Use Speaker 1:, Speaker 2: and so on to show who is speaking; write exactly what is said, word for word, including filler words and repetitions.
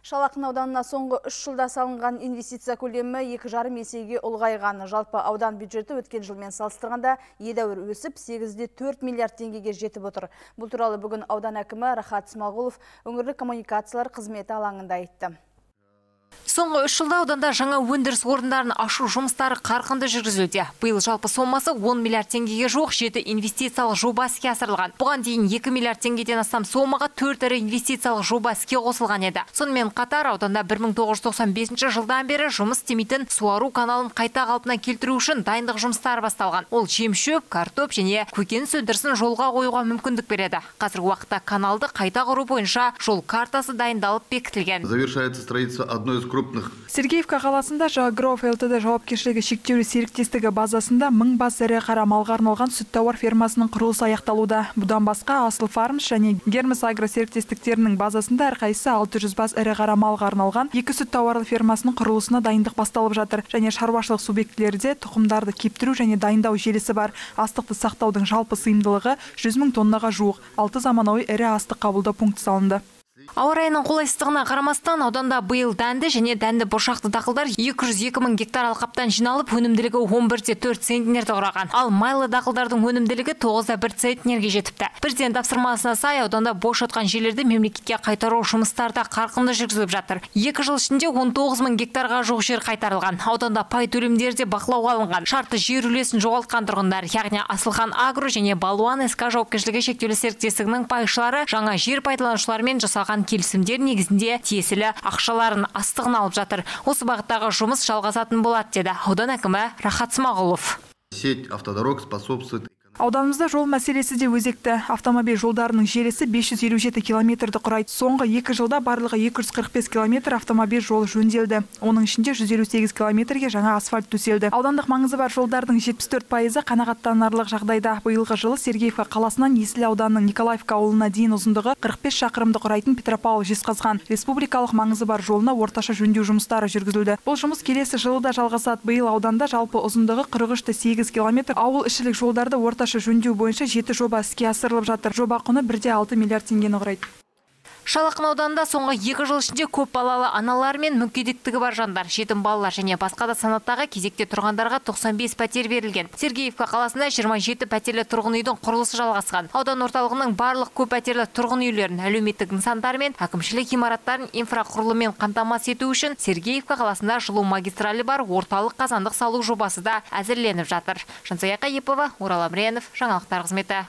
Speaker 1: Шалақын ауданына соңғы үш жылда салынған инвестиция көлемі екі жарым есеге ұлғайған. Жалпы аудан бюджеті өткен жылмен салыстырғанда едәуір өсіп, сегізде төрт миллиард теңгеге жетіп отыр. Бұл туралы бүгін аудан әкімі Рахат Смағұлов өңірлік коммуникациялар қызметі алаңында айтты.
Speaker 2: Соңғы үш жылда ауданда жаңа өндіріс орындарын ашу жұмыстары қарқынды жүргізілуде. Биыл жалпы сомасы он миллиард теңгеге жуық жеті инвестициялық жоба іске асырылған. Бұған дейін екі миллиард теңгеден астам сомаға төрт ірі инвестициялық жоба іске қосылған еді. Сонымен қатар ауданда бір мың тоғыз жүз тоқсан бесінші жылдан бері жұмыс істемейтін суару каналын қайта қалпына келтіру үшін дайындық жұмыстары басталған. Ол жем-шөп, картоп және көкөніс өндірісін жолға қоюға мүмкіндік береді. Қазіргі уақытта каналды қайта құру бойынша жол картасы дайындалып бекітілген.
Speaker 3: Завершается строительство одной из крупных.
Speaker 4: Сергеевка қаласында Жағгроф ЛТД жауапкершілігі шектеулі серіктестігі базасында мың бас ірі қара малға арналған сүт тауар фермасының құрылысы аяқталуда. Бұдан басқа Асыл Фармс және Гермес Агро серіктестіктерінің базасында әрқайсысы алты жүз бас ірі қара малға арналған екі сүт тауарлы фермасының құрылысына дайындық басталып жатыр. Және шаруашылық субъектілерде тұқымдарды кептіру және дайындау желісі бар. Астықты сақтаудың жалпы сыйымдылығы жүз мың тоннаға жуық. алты заманауи ірі астық қабылдау пункті салынды.
Speaker 2: Ауа райының қолайсыздығына қарамастан ауданда биыл дәнді және дәнді бұршақты дақылдар екі жүз екі мың гектар алқаптан жиналып, өнімділігі он бірде төрт центнерді құраған. Ал майлы дақылдардың өнімділігі тоғызда бір центнерге жетіпті. Президент тапсырмасына сай ауданда бос жатқан жерлерді мемлекетке қайтару жұмыстары да қарқынды жүргізіліп жатыр. екі жыл ішінде он тоғыз мың гектарға жуық жер қайтарылған. Ауданда пай төлемдері де бақылауға алынған. Шартты жер үлесін жоғалтқан тұрғындар, яғни Асылхан Агро және Балуан СК жауапкершілігі шектеулі серіктестігінің пайшылары жаңа жер пайдаланушылармен жасалған келісімдер негізінде тиесілі ақшаларын астығын алып жатыр. Осы бағыттағы жұмыс жалғасатын болады, деді аудан әкімі Рахат Смағұлов.
Speaker 3: Сеть автодорог способствует.
Speaker 4: Ауданымызда жол мәселесі де өзекті. Автомобиль жолдарының желісі бес жүз елу жеті километрді құрайды. Соңғы екі жылда барлығы екі жүз қырық бес километр автомобиль жолы жөнделді. Оның ішінде жүз елу сегіз километрге жаңа асфальт төселді. Аудандық маңызы бар жолдардың жетпіс төрт пайызы қанағаттанарлық жағдайда. Биылғы жылы Сергеевка қаласынан Есіл ауданының Николаевка ауылына дейін ұзындығы қырық бес шақырымды құрайтын Петропавл-Жезқазған республикалық маңызы бар жолына орташа жөндеу жұмыстары жүргізілді. Бұл жұмыс келесі жылы да жалғасады. Биыл ауданда жалпы ұзындығы қырық үш те сегіз километр ауыл ішілік жолдарды орташа жөндеу бойынша жеті жоба іске асырылып жатыр. Жоба құны бірде алты миллиард теңгені құрайды.
Speaker 2: Шалақын ауданында соңғы екі жыл ішінде көп балалы аналар мен мүгедектігі бар жандар, жетім балалар және басқа да санаттағы кезекте тұрғандарға тоқсан бес пәтер берілген. Сергеевка қаласында жиырма жеті пәтерлі тұрғын үйдің құрылысы жалғасқан. Аудан орталығының барлық көп пәтерлі тұрғын үйлерін, әлеуметтік нысандар мен әкімшілік ғимараттарын инфрақұрылыммен қамтамасыз ету үшін Сергеевка қаласында жылу магистралі бар орталық қазандық салу жобасы да әзірленіп жатыр. Жансая Қайыпова, Орал Амренов, жаңалықтар қызметі.